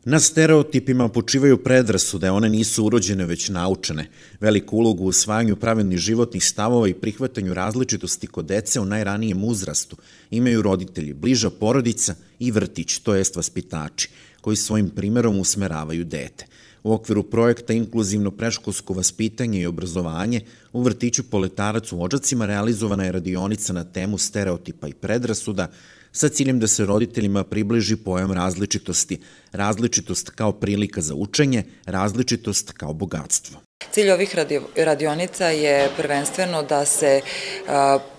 Na stereotipima počivaju predrasude, one nisu urođene već naučene. Veliku ulogu u usvajanju pravilnih životnih stavova i prihvatanju različitosti kod dece u najranijem uzrastu imaju roditelji, bliža porodica i vrtić, to jest vaspitači, koji svojim primerom usmeravaju dete. U okviru projekta Inkluzivno predškolsko vaspitanje i obrazovanje u vrtiću Poletarac u Odžacima realizovana je radionica na temu stereotipa i predrasuda sa ciljem da se roditeljima približi pojam različitosti, različitost kao prilika za učenje, različitost kao bogatstvo. Cilj ovih radionica je prvenstveno da se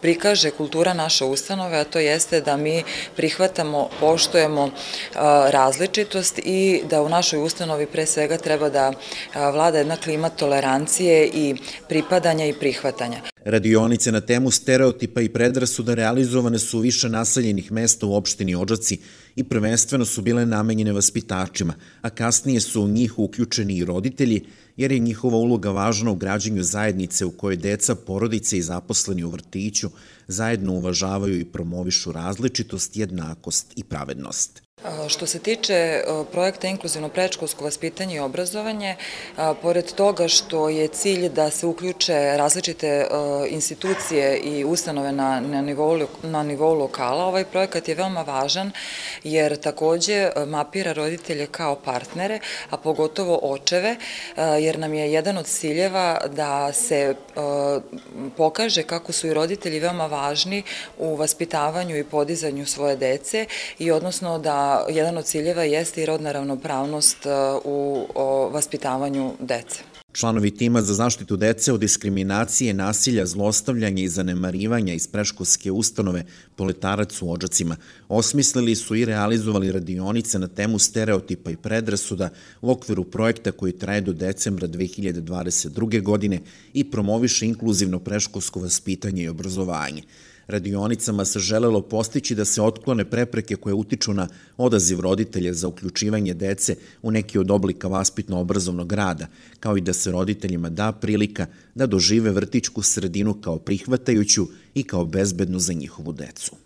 prikaže kultura naše ustanove, a to jeste da mi prihvatamo, poštujemo različitost i da u našoj ustanovi pre svega treba da vlada jedna klima tolerancije i pripadanja i prihvatanja. Radionice na temu stereotipa i predrasuda realizovane su u više naseljenih mesta u opštini Odžaci i prvenstveno su bile namenjene vaspitačima, a kasnije su u njih uključeni i roditelji, jer je njihova uloga važna u građenju zajednice u kojoj deca, porodice i zaposleni u vrtiću zajedno uvažavaju i promovišu različitost, jednakost i pravednost. Što se tiče projekta Inkluzivno predškolsko vaspitanje i obrazovanje, pored toga što je cilj da se uključe različite institucije i ustanove na nivou lokala, ovaj projekat je veoma važan jer takođe mapira roditelje kao partnere, a pogotovo očeve, jer nam je jedan od ciljeva da se pokaže kako su i roditelji veoma važni u vaspitavanju i podizanju svoje dece i odnosno da jedan od ciljeva jeste i rodna ravnopravnost u vaspitavanju dece. Članovi tima za zaštitu dece od diskriminacije, nasilja, zlostavljanja i zanemarivanja iz predškolske ustanove Poletarac u Odžacima osmislili su i realizovali radionice na temu stereotipa i predrasuda u okviru projekta koji traje do decembra 2022. godine i promoviše inkluzivno predškolsko vaspitanje i obrazovanje. Radionicama se želelo postići da se otklone prepreke koje utiču na odaziv roditelja za uključivanje dece u neki od oblika vaspitno-obrazovnog rada, kao i da se roditeljima da prilika da dožive vrtićku sredinu kao prihvatajuću i kao bezbednu za njihovu decu.